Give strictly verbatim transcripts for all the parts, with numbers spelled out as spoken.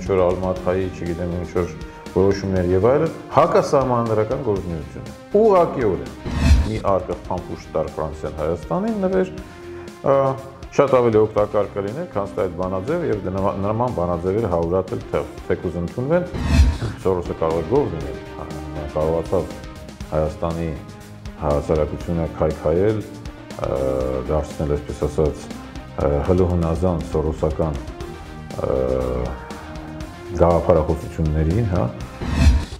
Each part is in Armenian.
ինչ-որ Ալմաթայի, չգիտեմ ինչ-որ որոշումներ եւ այլն, հակասահմանադրական գործունեություն է։ Ուղղակիորեն մի արկղ փամփուշտ տար Ֆրանսիան Հայաստանին նվեր շատ ավելի օգտակար կլիներ, քան այդ բանաձևը եւ նման բանաձևերը հարյուրատել թեկուզ ընդունվեն, Սորոսը կարող է գող լինել, կարողացավ Հայաստանի հասարակությունը քայքայել, դարձնել, այսպես ասած, հլուհնազան սորոսական գաղափարախոսություններին, հա։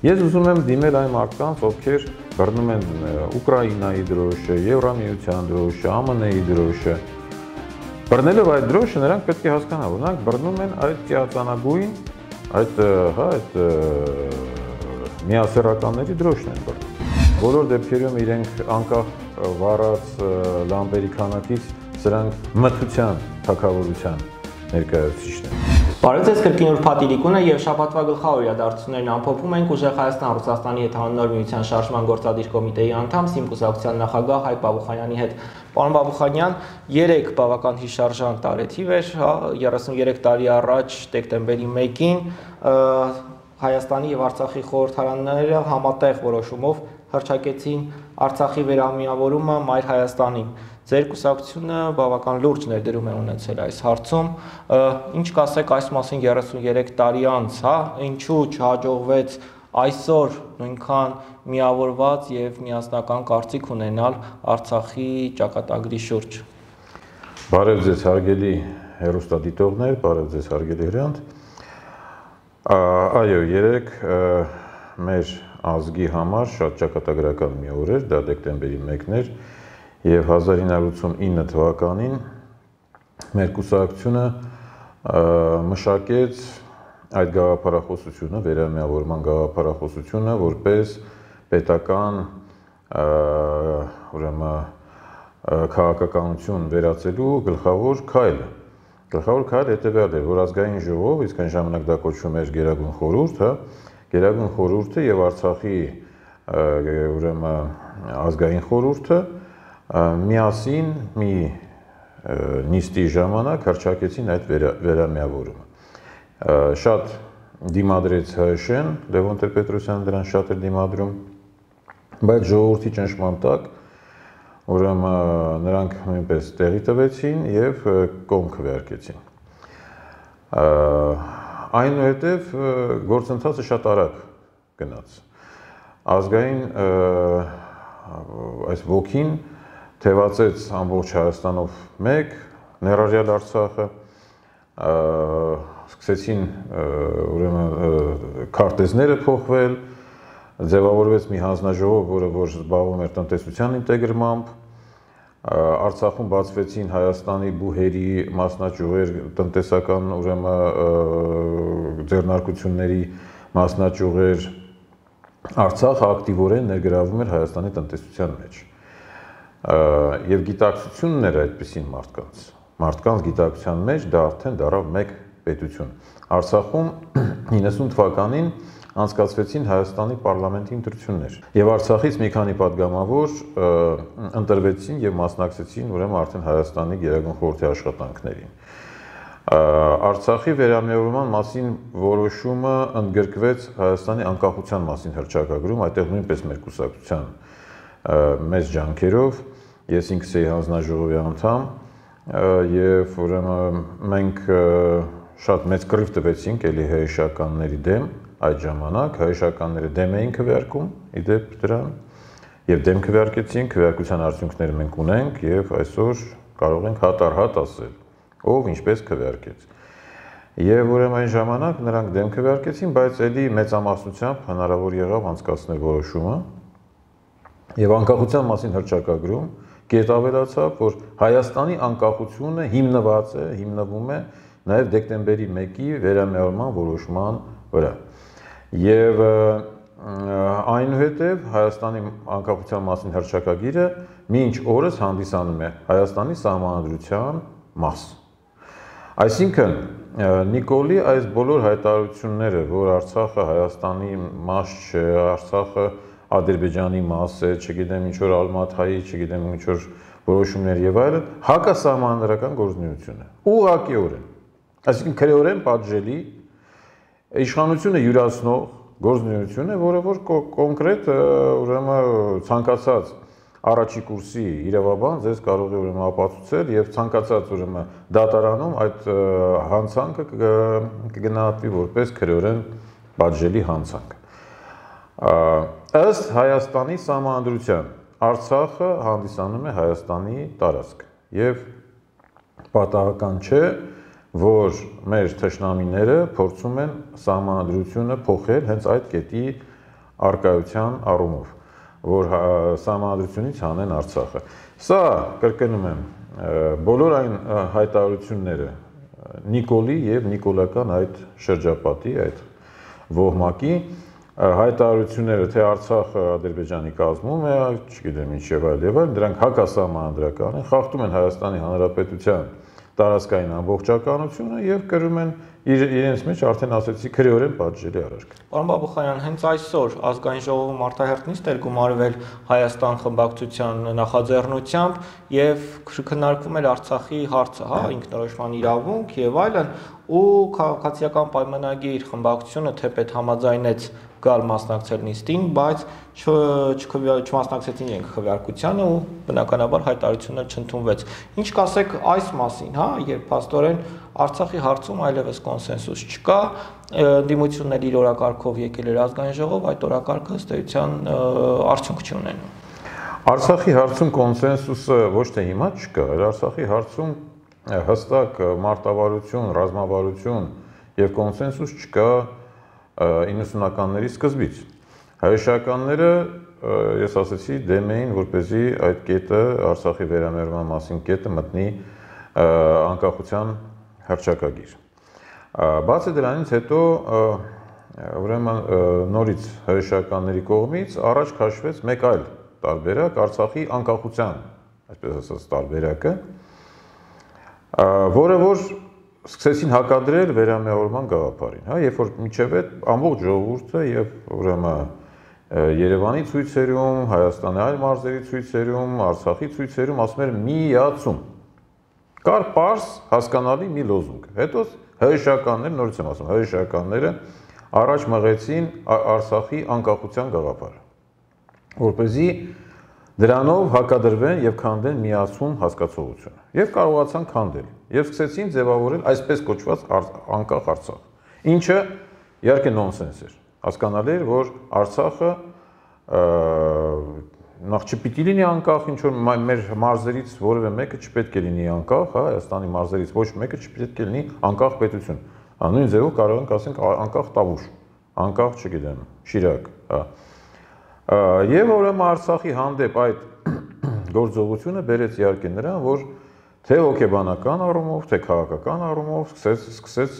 Ես ուզում եմ դիմել այն մարդկանց, ովքեր բռնում են Ուկրաինայի դրոշը, Եվրամիության դրոշը, ԱՄՆ-ի դրոշը։ Բռնելով այդ դրոշը նրանք պետք է հասկանան, որ նրանք բռնում են այդ ծիածանագույն, այդ, հա, այդ միասեռականների դրոշն են բռնում։ Բոլոր դեպքերում իրենք անկախ վառած լամպերի քանակից սրանք մթության, թագավորության ներկայացուցիչն են։ Բարև ձեզ, կրկին ուրբաթ Իրիկունը եւ շաբաթվա գլխավոր իրադարձություններն ամփոփում ենք ուժեղ Հայաստան Ռուսաստանի հետ հաննոր միության շարժման գործադիր կոմիտեի անդամ Սիմ կուսակցության նախագահ Հայկ Բաբուխանյանի հետ։ Պարոն Բաբուխանյան, երեք բավական հիշարժան տարեթիվ էր, հա, երեսուններեք տարի առաջ դեկտեմբերի մեկին Հայաստանի եւ Արցախի խորհրդարանները համատեղ որոշումով հռչակեցին Արցախի վերամիավորումը Մայր Հայաստանին։ Ձեր կուսակցությունը բավական լուրջ ներդրում է ունեցել այս հարցում, ինչ կասեք այս մասին երեսուններեք տարի անց, հա, ինչու չհաջողվեց այսօր նույնքան միավորված եւ միասնական կարծիք ունենալ Արցախի ճակատագրի շուրջ։ Բարև ձեզ հարգելի հեռուստադիտողներ, բարև ձեզ հարգելի հրանտ։ Այո, երեք մեր ազգի համար շատ ճակատագրական մի օր էր, դա դեկտեմբերի մեկն էր, եւ հազար ինը հարյուր ութսունինը թվականին մեր կուսակցությունը մշակեց այդ գաղափարախոսությունը, վերամիավորման գաղափարախոսությունը, որպես պետական ուրեմն քաղաքականություն վերածելու գլխավոր քայլը։ Գլխավոր քայլը հետեւյալն էր, որ ազգային ժողով, իսկ այն ժամանակ դա կոչվում էր Գերագույն խորհուրդ, հա, Գերագույն խորհուրդը եւ Արցախի ուրեմն ազգային խորհուրդը միասին մի նիստի ժամանակ հռչակեցին այդ վերամիավորումը։ Շատ դիմադրեց ՀՀՇ-ն, Լևոն Տեր-Պետրոսյանը դրան շատ էր դիմադրում, բայց ժողովրդի ճնշման տակ ուրեմն նրանք նույնպես տեղի տվեցին եւ կողմ քվեարկեցին։ Այնուհետև գործընթացը շատ արագ գնաց։ Ազգային այս ոգին թևածեց ամբողջ Հայաստանով մեկ, ներառյալ Արցախը, սկսեցին ուրեմն քարտեզները փոխվել, ձևավորվեց մի հանձնաժողով, որը որ զբաղվում էր տնտեսության ինտեգրմամբ, Արցախում բացվեցին Հայաստանի բուհերի մասնաճյուղեր, տնտեսական ուրեմն ձեռնարկությունների մասնաճյուղեր, Արցախը ակտիվորեն ներգրավում էր Հայաստանի տնտեսության մեջ։ Եվ գիտակցությունն էր այդպիսին մարդկանց, մարդկանց գիտակցության մեջ դա արդեն դարավ մեկ պետություն։ Արցախում իննսուն թվականին անցկացվեցին Հայաստանի պարլամենտի ընտրություններ եւ Արցախից մի քանի падգամավոր ընտրվեցին եւ մասնակցեցին ուրեմն արդեն Հայաստանի Գերագույն խորհրդի աշխատանքներին։ Արցախի վերամիավորման մասին որոշումը ընդգրկվեց Հայաստանի անկախության մասին հռչակագրում, այդտեղ նույնպես մեր կուսակցության մեծ ջանքերով, ես ինքս էի հանձնաժողովի անդամ եւ ուրեմն մենք շատ մեծ կռիվ տվեցինք էլի ՀՀՇ-ականների դեմ, այդ ժամանակ ՀՀՇ-ականները դեմ էին քվեարկում, իդեպ դրան, եւ դեմ քվեարկեցին, քվեարկության արդյունքները մենք ունենք եւ այսօր կարող ենք հատ առ հատ ասել, ով ինչպես քվեարկեց։ Եվ ուրեմն այն ժամանակ նրանք դեմ քվեարկեցին, բայց էլի մեծամասնությամբ հնարավոր եղավ անցկացնել որոշումը եւ անկախության մասին հռչակագրում կետ ավելացավ, որ Հայաստանի անկախությունը հիմնված է, հիմնվում է նաեւ դեկտեմբերի մեկի վերամիավորման որոշման վրա։ Եվ այնուհետև Հայաստանի անկախության մասին հռչակագիրը մինչ օրս հանդիսանում է Հայաստանի սահմանադրության մաս։ Այսինքն Նիկոլի այս բոլոր հայտարարությունները, որ Արցախը Հայաստանի մաս չէ, Արցախը Ադրբեջանի մաս է, չգիտեմ ինչ որ Ալմաթայի, չգիտեմ ինչ որ որոշումներ եւ այլն, հակասահմանադրական գործունեություն է։ Ուղղակիորեն։ Այսինքն քրեորեն պատժելի իշխանությունը յուրացնող գործունեություն է, որը որ կոնկրետ ուրեմն ցանկացած առաջի կուրսի իրավաբան ձեզ կարող է ուրեմն ապացուցել եւ ցանկացած ուրեմն դատարանում այդ հանցանքը կգնահատվի որպես քրեորեն պատժելի հանցանք։ Ըստ Հայաստանի Սահմանադրության Արցախը հանդիսանում է Հայաստանի տարածք եւ պատահական չէ, որ մեր թշնամիները փորձում են սահմանադրությունը փոխել հենց այդ կետի արկայության առումով, որ սահմանադրությունից հանեն Արցախը։ Սա, կրկնում եմ, բոլոր այն հայտարարությունները Նիկոլի եւ նիկոլական այդ շրջապատի, այդ ոհմակի հայտարարությունները, թե Արցախը Ադրբեջանի կազմում է, չգիտեմ ինչեւ այլ եւ այլ, դրանք հակասահմանադրական են, խախտում են Հայաստանի Հանրապետության տարածքային ամբողջականությունը եւ կրում են իրենց մեջ արդեն ասեցի քրեորեն պատժելի արարք։ Պարոն Բաբուխանյան, հենց այսօր ազգային ժողովում արտահերթ նիստ էր գումարվել Հայաստան խմբակցության նախաձեռնությամբ եւ քննարկվում էր Արցախի հարցը, հա, ինքնորոշման իրավունք եւ այլն, ու քաղաքացիական պայմանագիր խմբակցությունը թեպետ համաձայնեց գալ մասնակցել նիստին, բայց չմասնակցեցին իրենք քվեարկությանը ու բնականաբար հայտարարությունը չընդունվեց։ Ինչ կասեք այս մասին, հա, երբ փաստորեն Արցախի հարցում այլևս կոնսենսուս չկա, դիմություններ իր օրակարգով եկել էր ազգային ժողով, այդ օրակարգը ըստ էության արդյունք չի ունենում։ Արցախի հարցում կոնսենսուսը ոչ թե հիմա չկա, այլ Արցախի հարցում հստակ մարտավարություն, ռազմավարություն եւ կոնսենսուս չկա իննսունականների սկզբից։ Հայշականները, ես ասեցի, դեմ էին, որպեսզի այդ կետը, Արցախի վերամերման մասին կետը մտնի անկախության հռչակագիր։ Բացի դրանից հետո ուրեմն նորից հայշականների կողմից առաջ քաշվեց մեկ այլ տարբերակ Արցախի անկախության, այսպես ասած, տարբերակը, որը որ սկսեցին հակադրել վերամիավորման գաղափարին, հա, երբ որ մինչև այդ ամբողջ ժողովուրդը եւ ուրեմն Երևանի ցույցերում, Հայաստանի այլ մարզերի ցույցերում, Արցախի ցույցերում ասում էր միացում։ Կար պարզ հասկանալի մի լոզունգ։ Հետո հայշականները, նորից եմ ասում, հայշականները առաջ մղեցին Արցախի անկախության գաղափարը, որպեսզի դրանով հակադրվեն եւ քանդեն միացում հասկացողությունը։ Եվ կարողացան քանդել եւ սկսեցին ձևավորել այսպես կոչված անկախ Արցախ, ինչը իհարկե նոնսենս էր։ Հասկանալի էր, որ Արցախը նախ չպիտի լինի անկախ, ինչ որ մեր մարզերից որևէ մեկը չպետք է լինի անկախ, հա, Հայաստանի մարզերից ոչ մեկը չպետք է լինի անկախ պետություն։ Նույն ձևով կարող ենք ասենք անկախ Տավուշ, անկախ, չգիտեմ, Շիրակ, հա։ Եվ ուրեմն Արցախի հանդեպ այդ գործողությունը բերեց իհարկե նրան, որ թե հոգեբանական առումով, թե քաղաքական առումով սկսեց սկսեց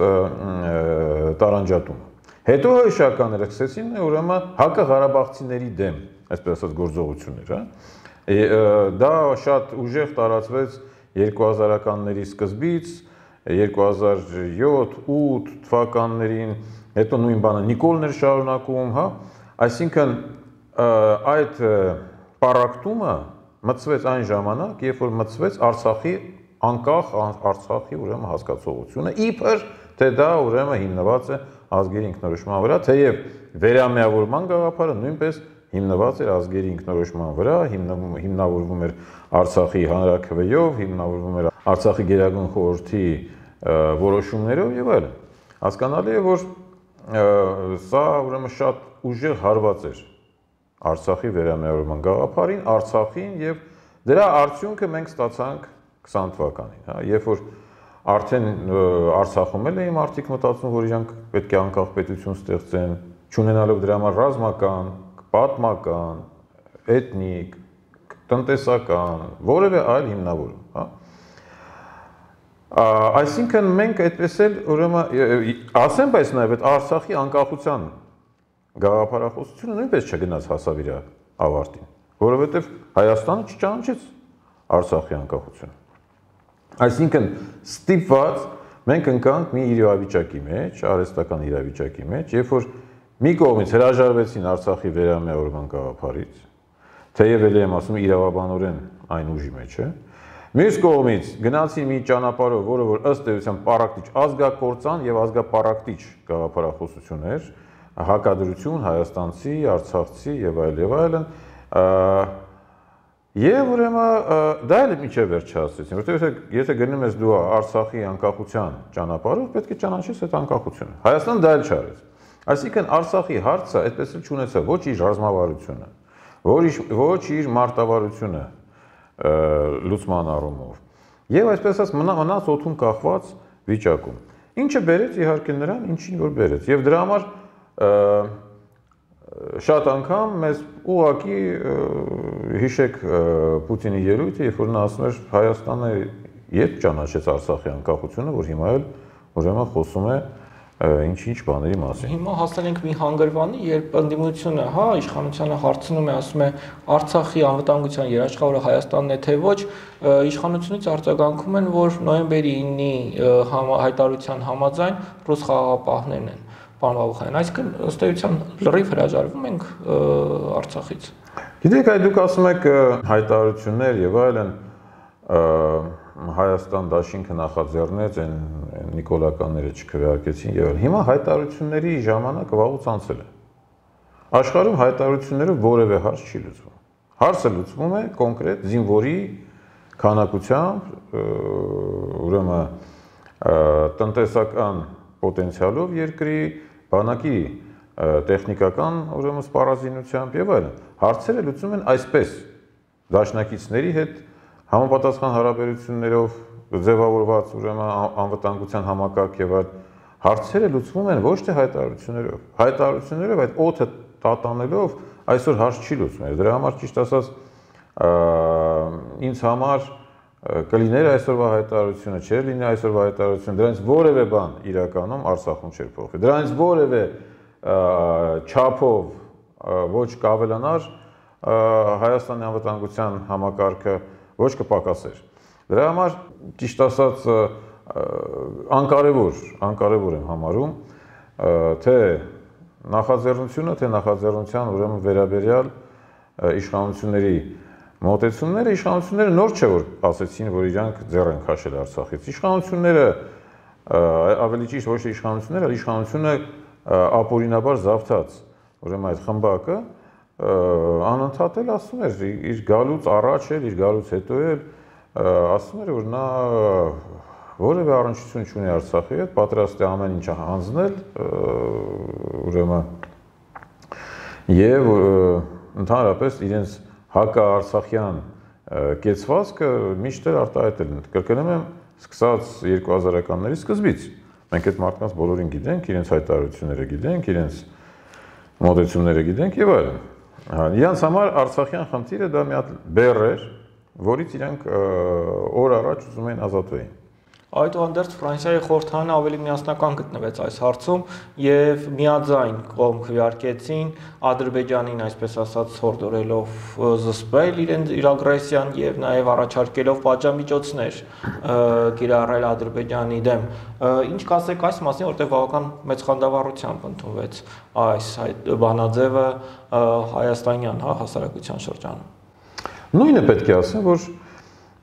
տարանջատումը։ Հետո հայշականները սկսեցին ուրեմն հակաղարաբաղցիների դեմ, այսպես ասած, գործողություններ, հա։ Դա շատ ուժեղ տարածվեց երկու հազարականների սկզբից, երկու հազար յոթ ութ թվականներին, հետո նույն բանը Նիկոլն էր շարունակում, հա։ Այսինքն այդ պարակտումը մտցվեց այն ժամանակ, երբ որ մտցվեց Արցախի անկախ Արցախի ուրեմն հասկացողությունը, իբր թե դա ուրեմն հիմնված է ազգերի ինքնորոշման վրա, թեև վերամիավորման գաղափարը նույնպես հիմնված էր ազգերի ինքնորոշման վրա, հիմնավորվում էր Արցախի հանրաքվեով, հիմնավորվում էր Արցախի գերագույն խորհրդի որոշումներով եւ այլն։ Հասկանալի է, որ սա ուրեմն շատ ուժեղ հարված էր Արցախի վերամիավորման գաղափարին, Արցախին եւ դրա արդյունքը մենք ստացանք քսան թվականին, հա, երբ որ արդեն Արցախում էլ էին մարդիկ մտածում, որ իրանք պետք է անկախ պետություն ստեղծեն, չունենալով դրա համար ռազմական, պատմական, էթնիկ, տնտեսական, որևէ այլ հիմնավորում, հա։ Այսինքն մենք այդպես էլ ուրեմն ասեմ, բայց նաեւ այդ Արցախի անկախության գաղափարախոսությունը նույնպես չգնաց հասավ իր ավարտին, որովհետև Հայաստանը չճանաչեց Արցախի անկախությունը։ Այսինքն ստիպված մենք ընկանք մի իրավիճակի մեջ, արհեստական իրավիճակի մեջ, երբ որ մի կողմից հրաժարվեցին Արցախի վերամիավորման գաղափարից, թեև ելի եմ ասում իրավաբանորեն այն ուժի մեջ է, Մյուս կողմից գնացի մի ճանապարհով, որը որ ըստ էության պարակտիչ ազգակործան եւ ազգապարակտիչ գաղափարախոսություն էր, հակադրություն հայաստանցի, արցախցի եւ այլ եւ այլն, եւ ուրեմն դա էլ միջև վերջ հասցրեցին, որովհետեւ եթե գնում ես դու Արցախի անկախության ճանապարհով, պետք է ճանաչես այդ անկախությունը։ Հայաստանը դա էլ չարեց։ Այսինքն Արցախի հարցը այդպես էլ չունեցավ ոչ իր ռազմավարությունը, ոչ իր մարտավարությունը լուծման առումով եւ այսպես ասած մնաց օդում կախված վիճակում, ինչը բերեց իհարկե նրան, ինչին որ բերեց եւ դրա համար շատ անգամ մեզ ուղղակի հիշեք Պուտինի ելույթը, երբ որ նա ասում էր Հայաստանը երբ ճանաչեց Արցախի անկախությունը, որ հիմա էլ ուրեմն խոսում է ինչ-ինչ բաների մասին։ Հիմա հասել ենք մի հանգրվանի, երբ ընդդիմությունը, հա, իշխանությանը հարցնում է, ասում է Արցախի անվտանգության երաշխավորը Հայաստանն է թե ոչ, իշխանությունից արձագանքում են, որ նոյեմբերի ինի հայտարարության համաձայն ռուս խաղաղապահներն են, պարոն Բաբուխանյան, այսինքն ըստ էության լրիվ հրաժարվում ենք Արցախից։ Գիտեք, այդ դուք ասում եք հայտարարություններ եւ այլն, Հայաստան դաշինքը նախաձեռնեց, այն նիկոլականները չքվեարկեցին եւ այլն։ Հիմա հայտարարությունների ժամանակը վաղուց անցել է։ Աշխարհում հայտարարություններով որևէ հարց չի լուծվում։ Հարցը լուծվում է կոնկրետ զինվորի քանակությամբ, ուրեմն տնտեսական պոտենցիալով երկրի, բանակի տեխնիկական ուրեմն սպառազինությամբ եւ այլն։ Հարցերը լուծվում են այսպես դաշնակիցների հետ համապատասխան հարաբերություններով ձևավորված ուրեմն անվտանգության համակարգ եւ այլ հարցերը լուծվում են ոչ թե հայտարարություններով։ Հայտարարություններով այդ օդը տատանելով այսօր հարց չի լուծվում։ Դրա համար ճիշտ ասած ինձ համար կլիներ այսօրվա հայտարարությունը, չէր լինի այսօրվա հայտարարությունը, դրանից որևէ բան իրականում Արցախում չէր փոխվի։ Դրանից որևէ չափով ոչ կավելանար Հայաստանի անվտանգության համակարգը ոչ կպակասեր։ Դրա համար ճիշտ ասած անկարևոր, անկարևոր եմ համարում, թե նախաձեռնությունը, թե նախաձեռնության ուրեմն վերաբերյալ իշխանությունների մոտեցումները, իշխանությունները նոր չէ որ ասեցին, որ իրանք ձեռ են քաշել Արցախից։ Իշխանությունները ավելի ճիշտ ոչ թե իշխանությունները, այլ իշխանությունը ապօրինաբար զավթած, ուրեմն այդ խմբակը անընդհատ էլ ասում էր իր գալուց առաջ էլ, իր գալուց հետո էլ ասում էր, որ նա որևէ առնչություն չունի Արցախի հետ, պատրաստ է ամեն ինչ հանձնել, ուրեմն եւ ընդհանրապես իրենց հակաարցախյան կեցվածքը միշտ էլ արտահայտել են։ Կրկնում եմ, սկսած երկու հազարականների սկզբից մենք այդ մարդկանց բոլորին գիտենք, իրենց հայտարարությունները գիտենք, իրենց մոտեցումները գիտենք եւ այլն։ Իրանց համար Արցախյան խնդիրը դա մի հատ բեռ էր, որից իրանք օր առաջ ուզում էին ազատվեին։ Այդուհանդերձ Ֆրանսիայի խորհրդարանը ավելի միասնական գտնվեց այս հարցում եւ միաձայն կողմ քվեարկեցին Ադրբեջանին, այսպես ասած, հորդորելով զսպել իրենց իր ագրեսիան եւ նաեւ առաջարկելով պատժամիջոցներ կիրառել Ադրբեջանի դեմ։ Ինչ կասեք այս մասին, որտեղ բավական մեծ խանդավառությամբ ընդունվեց այս բանաձևը հայաստանյան, հա, հասարակության շրջանում։ Նույնը պետք է ասեմ, որ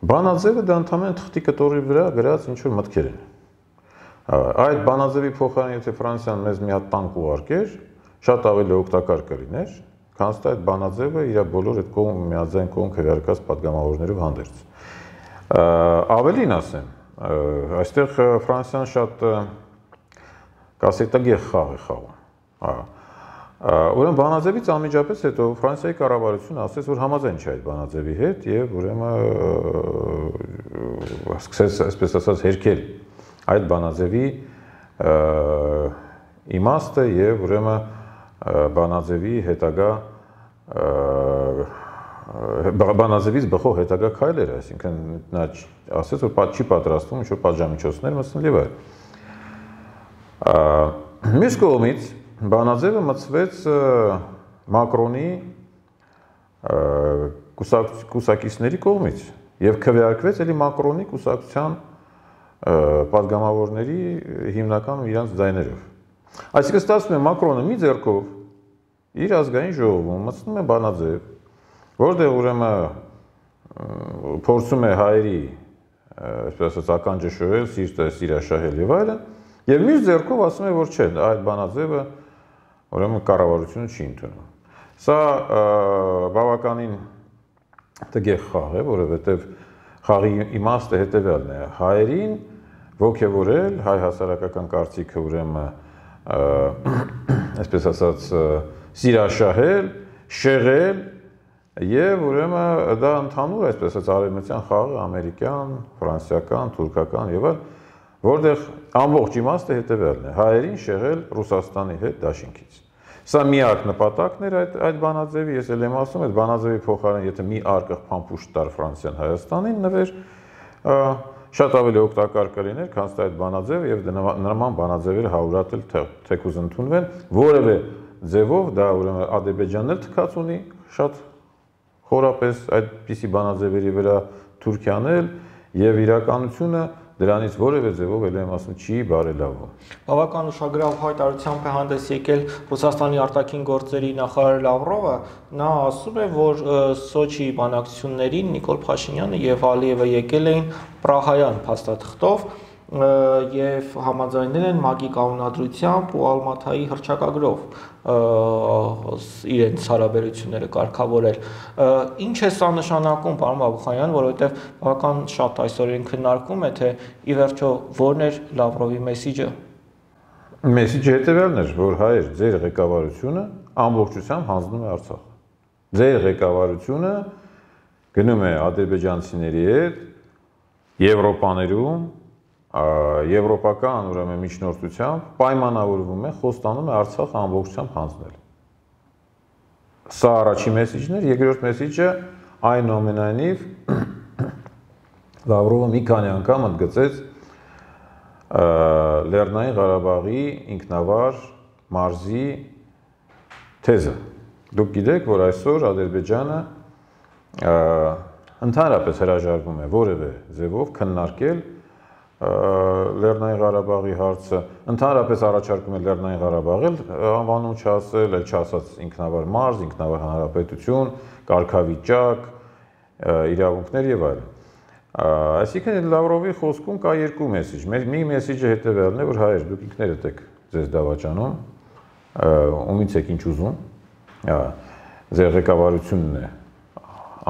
բանաձևը դա ընդհանրապես թղթի կտորի վրա գրած ինչ-որ մտքեր են։ Այդ բանաձևի փոխարեն եթե Ֆրանսիան մեզ մի հատ տանկ ուղարկեր, շատ ավելի օգտակար կլիներ, քան թե այդ բանաձևը իր բոլոր այդ կողմ միաձայն կողմ քվեարկած падգամավորներով հանդերձ։ Ավելին ասեմ, այստեղ Ֆրանսիան շատ կասետագեղ խաղ է խաղում։ Ուրեմն բանաձևից անմիջապես հետո Ֆրանսիայի կառավարությունը ասաց, որ համաձայն չէ այդ բանաձևի հետ եւ ուրեմն սկսեց, այսպես ասած, հերքել այդ բանաձևի իմաստը եւ ուրեմն բանաձևի հետագա բանաձևից բխող հետագա քայլերը, այսինքն նա ասաց, որ չի պատրաստվում ինչ-որ պատժամիջոցներ մտցնել եւ այլ։ Մյուս կողմից բանաձևը մտցվեց Մակրոնի կուսակիցների կողմից եւ քվեարկվեց էլի Մակրոնի կուսակցության падգամավորների հիմնական իրանց ձայներով։ Այսինքն ստացվում է Մակրոնը մի ձեռքով իր ազգային ժողովում մտցնում է բանաձև, որտեղ ուրեմն փորձում է հայերի այսպես ասած, ականջը շորել, սիրտը սիրաշահել եւ այլն, եւ մյուս ձեռքով ասում է, որ չէ, այդ բանաձևը ուրեմն կառավարությունը չի ընդունում։ Սա բավականին տգեղ խաղ է, որովհետեւ խաղի իմաստը հետեւյալն է. հայերին ոգևորել, հայ հասարակական կարծիքը ուրեմն այսպես ասած սիրաշահել, շեղել եւ ուրեմն դա ընդհանուր այսպես ասած արևմտյան խաղը ամերիկյան, ֆրանսիական, թուրքական եւ այլ, որտեղ ամբողջ իմաստը հետեւյալն է. հայերին շեղել Ռուսաստանի հետ դաշինքից։ Սա միակ նպատակն էր այդ այդ բանաձևի, ես էլ եմ ասում, այդ բանաձևի փոխարեն եթե մի արկղ փամփուշտ տար Ֆրանսիան Հայաստանին նվեր, շատ ավելի օգտակար կլիներ, քան այդ բանաձևը եւ նման բանաձևերը հարյուրատել թեկուզ ընդունվեն, որևէ ձևով դա ուրեմն Ադրբեջանն էլ թքած ունի, շատ խորապես այդպիսի բանաձևերի վրա Թուրքիան էլ եւ իրականությունը դրանից որևէ ձևով էլ եմ ասում չի բարելավում։ Բավական ուշագրավ հայտարարությամբ է հանդես եկել Ռուսաստանի արտաքին գործերի նախարար Լավրովը, նա ասում է, որ Սոչի բանակցություններին Նիկոլ Փաշինյանը եւ Ալիևը եկել էին Պրահայան փաստաթղթով եւ համաձայնել են ՄԱԿ-ի կանոնադրությամբ ու Ալմաթայի հռչակագրով իրենց հարաբերությունները կարգավորել։ Ինչ է սա նշանակում, պարոն Բաբուխանյան, որովհետեւ բավական շատ այսօր են քննարկում է, թե ի վերջո ո՞րն էր Լավրովի մեսիջը։ Մեսիջը հետեւյալն էր, որ հայեր, ձեր ղեկավարությունը ամբողջությամբ հանձնում է Արցախ։ Ձեր ղեկավարությունը գնում է ադրբեջանցիների հետ Եվրոպաներում եվրոպական ուրեմն միջնորդությամբ պայմանավորվում է, խոստանում է Արցախը ամբողջությամբ հանձնել։ Սա առաջին մեսիջն էր, երկրորդ մեսիջը այնուամենայնիվ Լավրովը մի քանի անգամ ընդգծեց Լեռնային Ղարաբաղի ինքնավար մարզի թեզը։ Դուք գիտեք, որ այսօր Ադրբեջանը ընդհանրապես հրաժարվում է որևէ ձևով քննարկել Լեռնային Ղարաբաղի հարցը, ընդհանրապես առաջարկում է Լեռնային Ղարաբաղել անվանում չասել, էլ չասած ինքնավար մարզ, ինքնավար հանրապետություն, կարգավիճակ, իրավունքներ եւ այլն։ Այսինքն Լավրովի խոսքում կա երկու մեսիջ։ Մի մեսիջը հետեւյալն է, որ հայեր, դուք ինքներդ եք ձեզ դավաճանում, ումից եք ինչ ուզում, ձեր ղեկավարությունն է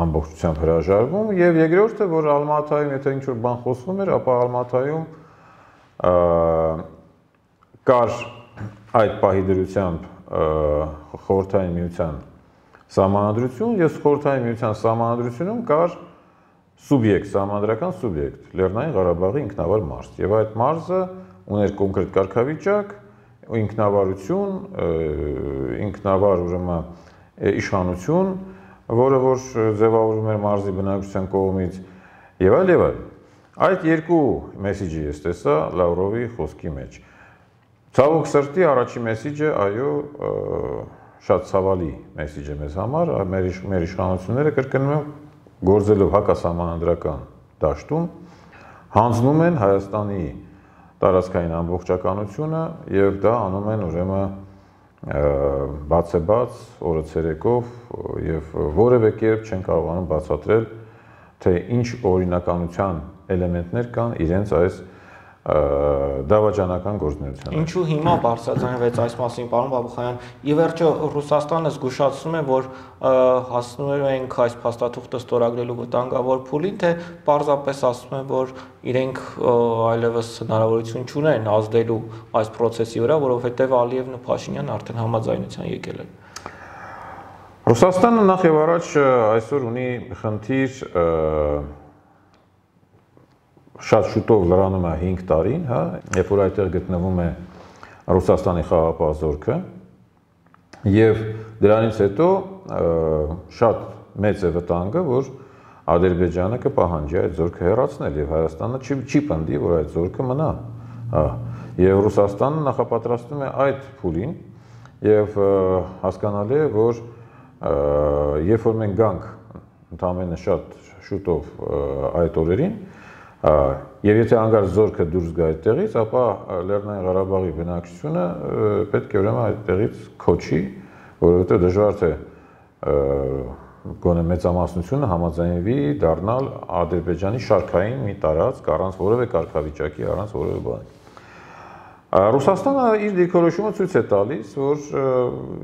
ամբողջությամբ հրաժարվում եւ երկրորդը, որ Ալմաթայում եթե ինչ-որ բան խոսվում էր, ապա Ալմաթայում կար այդ պահի դրությամբ խորհրդային միության սահմանադրություն եւ խորհրդային միության սահմանադրությունում կար սուբյեկտ, սահմանադրական սուբյեկտ, Լեռնային Ղարաբաղի ինքնավար մարզ եւ այդ մարզը ուներ կոնկրետ կարգավիճակ, ինքնավարություն, ինքնավար ուրեմն իշխանություն, որը որ ձևավորում էր մարզի բնակչության կողմից եւ այլ եւ այլ։ Այդ երկու մեսիջը ես տեսա Լավրովի խոսքի մեջ։ Ցավոք սրտի առաջի մեսիջը, այո, շատ ցավալի մեսիջ է մեզ համար, մեր մեր իշխանությունները կրկնում են գործելով հակասահմանադրական դաշտում հանձնում են Հայաստանի տարածքային ամբողջականությունը եւ դա անում են ուրեմն բացեբաց օրը ցերեկով եւ որևէ կերպ չեն կարողանում բացատրել թե ինչ օրինականության էլեմենտներ կան իրենց այս դավաճանական գործունեության։ Ինչու հիմա բարձրացնվեց այս մասին, պարոն Բաբուխանյան, ի վերջո Ռուսաստանը զգուշացնում է, որ հասնում ենք այս փաստաթուղթը ստորագրելու վտանգավոր փուլին, թե պարզապես ասում են, որ իրենք այլևս հնարավորություն չունեն ազդելու այս process-ի վրա, որովհետև Ալիևն ու Փաշինյանն արդեն համաձայնության եկել են։ Ռուսաստանը նախ եւ առաջ այսօր ունի խնդիր շատ շուտով լրանում է հինգ տարին, հա, երբ որ այդտեղ գտնվում է Ռուսաստանի խաղաղապահ զորքը եւ դրանից հետո շատ մեծ է վտանգը, որ Ադրբեջանը կպահանջի այդ զորքը հեռացնել եւ Հայաստանը չի չի պնդի, որ այդ զորքը մնա, հա, եւ Ռուսաստանը նախապատրաստում է այդ փուլին եւ հասկանալի է, որ երբ որ մենք գանք ընդամենը շատ շուտով այդ օրերին եւ եթե անգամ զորքը դուրս գա այդտեղից, ապա Լեռնային Ղարաբաղի բնակչությունը պետք է ուրեմն այդտեղից քոչի, որովհետեւ դժվար թե գոնե մեծամասնությունը համաձայնվի դառնալ Ադրբեջանի շարքային մի տարածք առանց որևէ կարգավիճակի, առանց որևէ բանի։ Ռուսաստանը իր դիրքորոշումը ցույց է տալիս, որ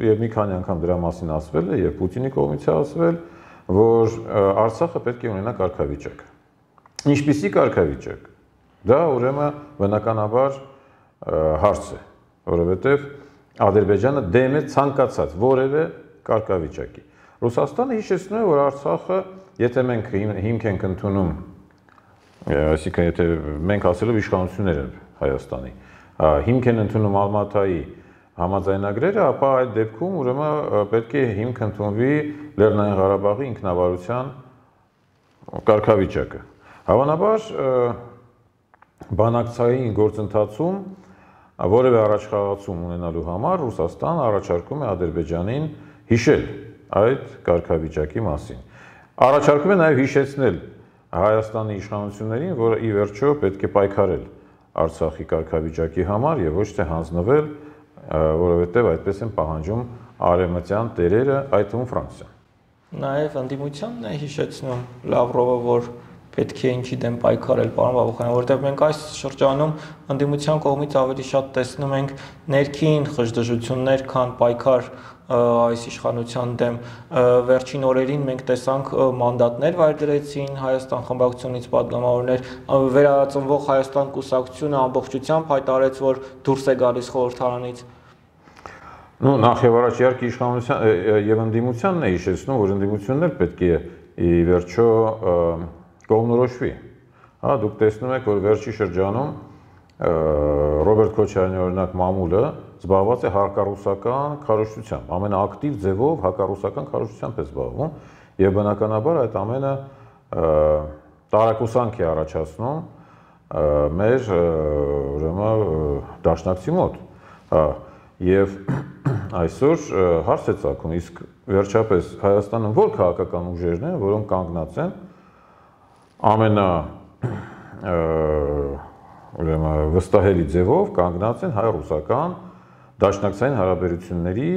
եւ մի քանի անգամ դրա մասին ասվել է, եւ Պուտինի կողմից է ասվել, որ Արցախը պետք է ունենա կարգավիճակ։ Ինչպիսի կարգավիճակ։ Դա ուրեմն բնականաբար հարց է, որովհետեւ Ադրբեջանը դեմ է ցանկացած որևէ կարգավիճակի։ Ռուսաստանը հիշեցնում է, որ Արցախը, եթե մենք հիմք ենք ընդունում, այսինքն եթե մենք ասելով իշխանություններ են Հայաստանի, հիմք են ընդունում Ալմատայի համաձայնագրերը, ապա այդ դեպքում ուրեմն պետք է հիմք ընդունվի Լեռնային Ղարաբաղի ինքնավարության կարգավիճակը։ Հավանաբար բանակցային գործընթացում որևէ առաջխաղացում ունենալու համար Ռուսաստանը առաջարկում է Ադրբեջանին հիշել այդ կարգավիճակի մասին։ Առաջարկում է նաև հիշեցնել Հայաստանի իշխանություններին, որ ի վերջո պետք է պայքարել Արցախի կարգավիճակի համար եւ ոչ թե հանձնվել, որովհետեւ այդպես են պահանջում արևմտյան տերերը, այդ թվում Ֆրանսիան։ Նաև ընդդիմությանն է հիշեցնում Լավրովը, որ պետք է ինչի դեմ պայքարել, պարոն Բաբուխյան, որովհետև մենք այս շրջանում ընդդիմության կողմից ավելի շատ տեսնում ենք ներքին խժդժություններ, քան պայքար այս իշխանության դեմ։ Վերջին օրերին մենք տեսանք մանդատներ վայր դրեցին Հայաստան խմբակցությունից պատգամավորներ, վերածնվող Հայաստան կուսակցությունը ամբողջությամբ հայտարարեց, որ դուրս է գալիս խորհրդարանից։ Ну, նախ եւ առաջ իհարկե իշխանության եւ ընդդիմությանն է հիշեցնում, որ ընդդիմությունն էլ պետք է ի վերջո կողմնորոշվի։ Հա, դուք տեսնում եք, որ վերջի շրջանում Ռոբերտ Քոչարյանի օրինակ մամուլը զբաղված է հակառուսական քարոզչությամբ, ամենաակտիվ ձևով հակառուսական քարոզչությամբ է զբաղվում եւ բնականաբար այդ ամենը տարակուսանք է առաջացնում մեր ուրեմն դաշնակցի մոտ։ Հա, եւ այսօր հարց է ծագում, իսկ վերջապես Հայաստանում որ քաղաքական ուժերն են, որոնք կանգնած են ամենա ուրեմն վստահելի ձևով կանգնած են հայ-ռուսական դաշնակցային հարաբերությունների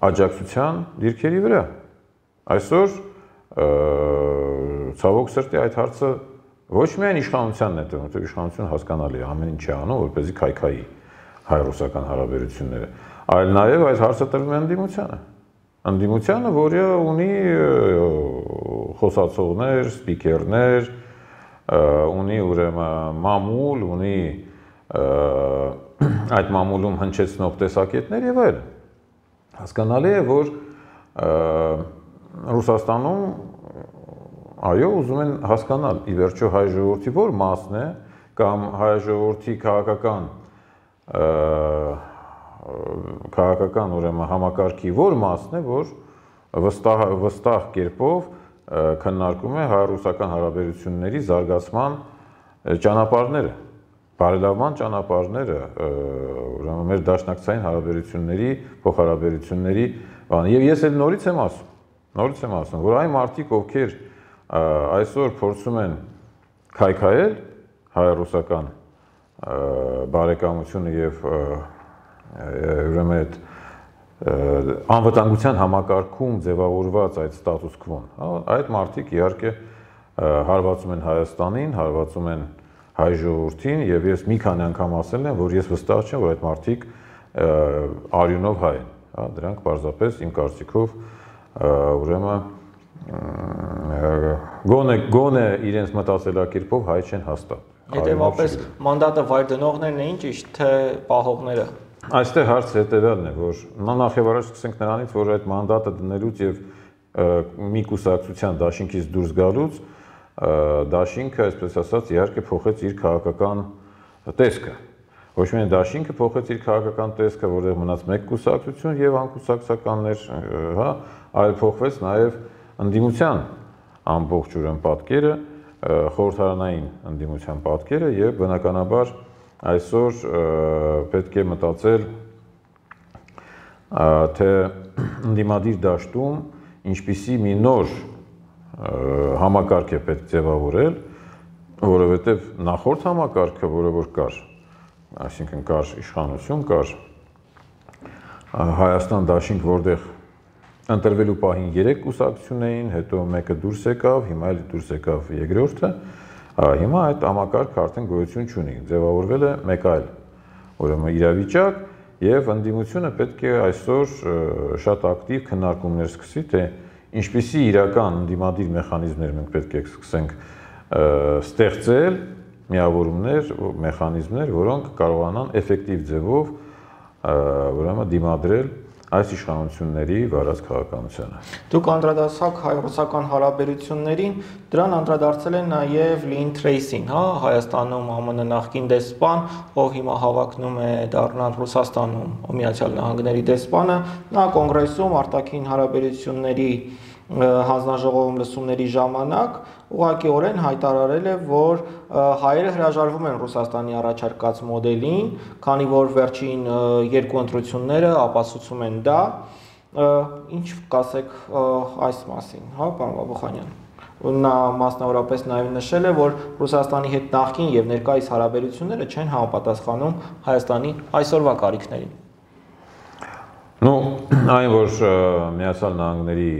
աջակցության դիրքերի վրա։ Այսօր ցավոք սրտի այդ հարցը ոչ միայն իշխանությանն է տրվում, որտեղ իշխանությունը հասկանալի է, ամեն ինչ է անում, որպեսզի քայքայի հայ-ռուսական հարաբերությունները, այլ նաև այդ հարցը տրվում է ընդդիմությանը։ Ընդդիմությանը, որը ունի խոսացողներ, սպիկերներ, ունի ուրեմն մամուլ, ունի այդ մամուլում հնչեցնող տեսակետներ եւ այլն։ Հասկանալի է, որ Ռուսաստանում այո, ուզում են հասկանալ ի վերջո հայ ժողովրդի որ մասն է կամ հայ ժողովրդի քաղաքական քաղաքական ուրեմն համակարգի որ մասն է, որ վստահ վստահ կերպով քննարկում է հայ-ռուսական հարաբերությունների զարգացման ճանապարհները, բարելավման ճանապարհները, ուրեմն մեր դաշնակցային հարաբերությունների, փոխհարաբերությունների բանը։ Եվ ես էլ նորից եմ ասում, նորից եմ ասում, որ այն մարդիկ, ովքեր այսօր փորձում են քայքայել հայ-ռուսական բարեկամությունը եւ ուրեմն այդ անվտանգության համակարգում ձևավորված այդ ստատուս քվոն, այդ մարդիկ իհարկե հարվածում են Հայաստանին, հարվածում են հայ ժողովրդին եւ ես մի քանի անգամ ասել եմ, որ ես վստահ չեմ, որ այդ մարդիկ արյունով հայ են, հա, դրանք պարզապես իմ կարծիքով ուրեմն գոնե գոնե իրենց մտածելակերպով հայ չեն հաստատ։ Հետևաբար մանդատը վայր դնողներն էին ճիշտ, թե պահողները։ Այստեղ հարցը հետևյալն է, որ նախ եւ առաջ սկսենք նրանից, որ այդ մանդատը դնելուց եւ մի կուսակցության դաշինքից դուրս գալուց դաշինքը, այսպես ասած, իհարկե փոխեց իր քաղաքական տեսքը։ Ոչ միայն դաշինքը փոխեց իր քաղաքական տեսքը, որտեղ մնաց մեկ կուսակցություն եւ անկուսակցականներ, հա, այլ փոխվեց նաեւ ընդդիմության ամբողջ ուրեմն պատկերը, խորհրդարանային ընդդիմության պատկերը եւ բնականաբար այսօր պետք է մտածել, թե ընդդիմադիր դաշտում ինչպիսի մի նոր համակարգ է պետք ձևավորել, որովհետև նախորդ համակարգը, որը որ կար, այսինքն կար իշխանություն, կար Հայաստան դաշինք, որտեղ ընտրվելու պահին երեք կուսակցություն էին, հետո մեկը դուրս եկավ, հիմա էլ դուրս եկավ երկրորդը, հիմա այդ համակարգը արդեն գոյություն չունի, ձևավորվել է մեկ այլ ուրեմն իրավիճակ եւ ընդդիմությունը պետք է այսօր շատ ակտիվ քննարկումներ սկսի, թե ինչպիսի իրական ընդդիմադիր մեխանիզմներ մենք պետք է սկսենք ստեղծել, միավորումներ, մեխանիզմներ, որոնք կարողանան էֆեկտիվ ձևով ուրեմն դիմադրել այս իշխանությունների վարած քաղաքականությանը։ Դուք անդրադարձաք հայ-ռուսական հարաբերություններին, դրան անդրադարձել են նաև Լին Թրեյսին, հա, Հայաստանում ԱՄՆ նախկին դեսպան, ով հիմա հավակնում է դառնալ Ռուսաստանում Միացյալ Նահանգների դեսպանը, նա կոնգրեսում արտաքին հարաբերությունների հանձնաժողովում լսումների ժամանակ ուղղակիորեն հայտարարել է, որ հայերը հրաժարվում են Ռուսաստանի առաջարկած մոդելին, քանի որ վերջին երկու ընտրությունները ապացուցում են դա, ինչ կասեք այս մասին, հա, պարոն Բաբուխանյան։ Նա մասնավորապես նաև նշել է, որ Ռուսաստանի հետ նախկին եւ ներկայիս հարաբերությունները չեն համապատասխանում Հայաստանի այսօրվա կարիքներին։ Ну, այն որ Միացյալ Նահանգների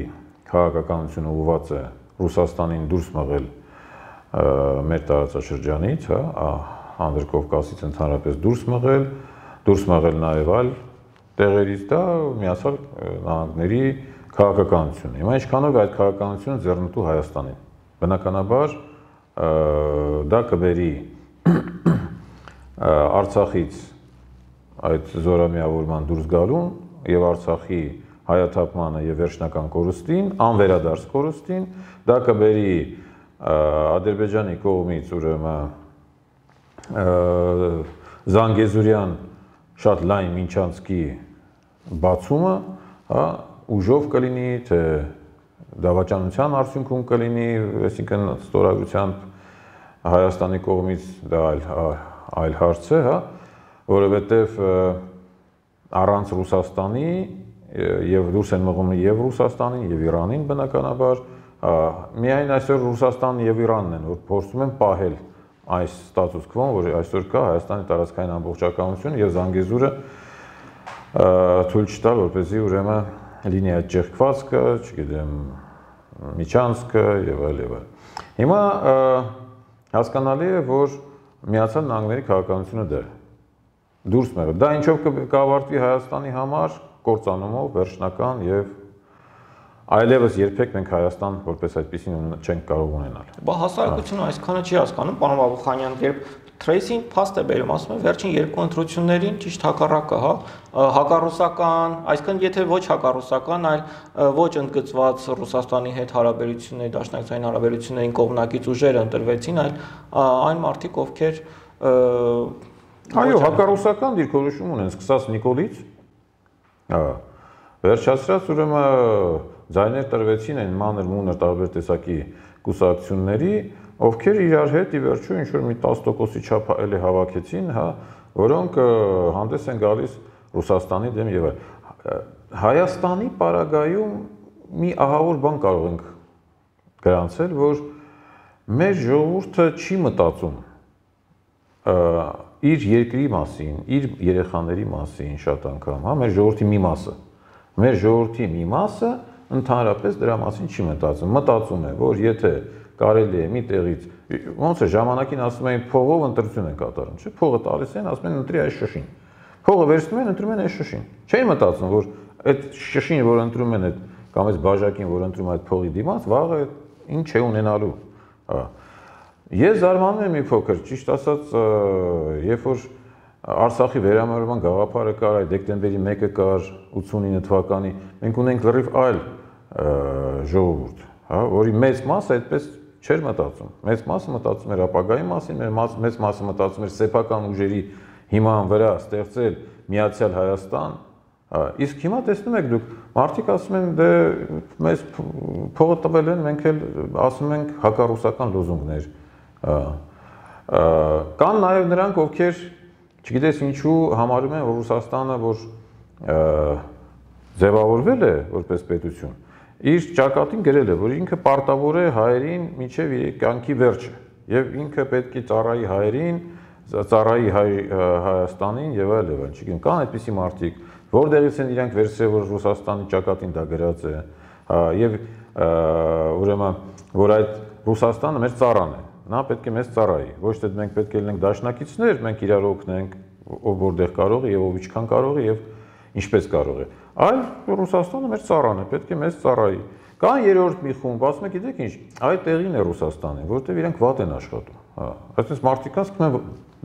քաղաքականությունը ուղղված է Ռուսաստանին դուրս մղել մեր տարածաշրջանից, հա, Անդրկովկասից ընդհանրապես դուրս մղել, դուրս մղել նաև այլ տեղերից, դա Միացյալ Նահանգների քաղաքականությունն է։ Հիմա ինչքանով է այդ քաղաքականությունը ձեռնտու Հայաստանին։ Բնականաբար դա կբերի Արցախից այդ զորամիավորման դուրս գալուն եւ Արցախի հայաթափմանը եւ վերջնական կորուստին, անվերադարձ կորուստին, դա կբերի Ադրբեջանի կողմից ուրեմն Զանգեզուրյան շատ լայն Մինչանցկի բացումը, հա, ուժով կլինի, թե դավաճանության արդյունքում կլինի, այսինքն ստորագրությամբ Հայաստանի կողմից դա այլ այլ հարց է, հա, որովհետեւ առանց Ռուսաստանի եւ դուրս են մղում եւ Ռուսաստանին եւ Իրանին բնականաբար, միայն այսօր Ռուսաստանն եւ Իրանն են, որ փորձում են պահել այս ստատուս քվոն, որ այսօր կա Հայաստանի տարածքային ամբողջականությունը եւ Զանգեզուրը թույլ չտալ, որպեսզի ուրեմն լինի այդ ճեղքվածքը, չգիտեմ, Միչանցկը եւ այլ եւ այլ։ Հիմա հասկանալի է, որ Միացյալ Նահանգների քաղաքականությունը դա է։ Դուրս մեղը։ Դա ինչով կավարտվի Հայաստանի համար կործանումով, վերջնական եւ այլևս երբեք մենք Հայաստան որպես այդպեսին չենք կարող ունենալ։ Բա հասարակությունը այսքանը չի հասկանում, պարոն Բաբուխանյան, երբ Թրեյսին փաստ է բերում, ասում է վերջին երկու ընտրություններին ճիշտ հակառակը, հա, հակառուսական, այսինքն եթե ոչ հակառուսական, այլ ոչ ընդգծված Ռուսաստանի հետ հարաբերությունների, դաշնակցային հարաբերություններին կողմնակից ուժեր ընտրվեցին, այլ այն մարդիկ, ովքեր այո, հակառուսական դիրքորոշում ունեն, սկսած Նիկոլից, հա, վերջացրած ուրեմն ձայներ տրվեցին այն մանր մունր տարբեր տեսակի կուսակցությունների, ովքեր իրար հետ ի վերջո ինչ որ մի տասը տոկոսի չափ էլի հավաքեցին, հա, որոնք հանդես են գալիս Ռուսաստանի դեմ եւ այլ։ Հայաստանի պարագայում մի ահավոր բան կարող ենք գրանցել, որ մեր ժողովուրդը չի մտածում իր երկրի մասին, իր երեխաների մասին շատ անգամ, հա, մեր ժողովրդի մի մասը, մեր ժողովրդի մի մասը ընդհանրապես դրա մասին չի մտածում, մտածում է, որ եթե կարելի է մի տեղից, ոնց է ժամանակին ասում էին փողով ընտրություն են կատարում, չէ՞, փողը տալիս են, ասում են ընտրի այս շշին, փողը վերցնում են, ընտրում են այս շշին, չէին մտածում, որ այդ շշին, որ ընտրում են, այդ կամ այս բաժակին, որ ընտրում այդ փողի դիմաց, վաղը ինչ է ունենալու, հա։ Ես զարմանում եմ մի փոքր, ճիշտ ասած, երբ որ Արցախի վերամիավորման գաղափարը կար, այդ դեկտեմբերի մեկը կար ութսունինը թվականի, մենք ունենք լրիվ այլ ժողովուրդ, հա, որի մեծ մասը այդպես չէր մտածում։ Մեծ մասը մտածում էր ապագայի մասին, մեծ մասը մտածում էր սեփական ուժերի հիման վրա ստեղծել միացյալ Հայաստան, իսկ հիմա տեսնում եք դուք, մարդիկ ասում են, դե մեզ փողը տվել են, մենք էլ ասում ենք հակառուսական լոզունգներ։ Կան նաև նրանք, ովքեր չգիտես ինչու համարում են, որ Ռուսաստանը, որ ձևավորվել է որպես պետություն, իր ճակատին գրել է, որ ինքը պարտավոր է հայերին մինչև իր կյանքի վերջը, եւ ինքը պետք է ծառայի հայերին, ծառայի Հայաստանին եւ այլ եւ այլ, չգիտեմ, կան այդպիսի մարդիկ, որտեղից են իրանք վերցրել, որ Ռուսաստանի ճակատին դա գրած է, եւ ուրեմն որ այդ Ռուսաստանը մեր ծառան է, նա պետք է մեզ ծառայի, ոչ թե մենք պետք է լինենք դաշնակիցներ, մենք իրար օգնենք, ով որտեղ կարող է եւ ով ինչքան կարող է եւ ինչպես կարող է, այլ Ռուսաստանը մեր ծառան է, պետք է մեզ ծառայի։ Կան երրորդ մի խումբ, ասում եք, գիտեք ինչ, այդ տեղին է Ռուսաստանը, որտեղ իրենք վատ են աշխատում, հա, այսպես մարդիկ ասում են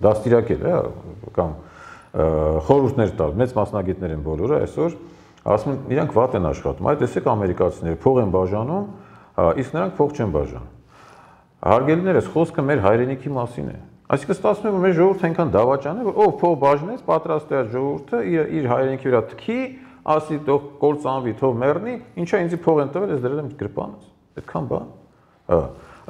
դաստիարակել, հա, կամ խորհուրդներ տալ, մեծ մասնագետներ են բոլորը այսօր, ասում են իրենք վատ են աշխատում, այդ տեսեք ամերիկացիները փող են բաժանում, իսկ նրանք փող չեն բաժանում։ Հարգելիներս, խոսքը մեր հայրենիքի մասին է։ Այսինքն ստացվում է, որ մեր ժողովուրդը այնքան դավաճան է, որ ով փող բաժնեց, պատրաստ է այդ ժողովուրդը իր իր հայրենիքի վրա թքի, ասի թող կործանվի, թող մեռնի, ինչա ինձ փող են տվել, ես դրել եմ գրպանս։ Այդքան բան։ Հա։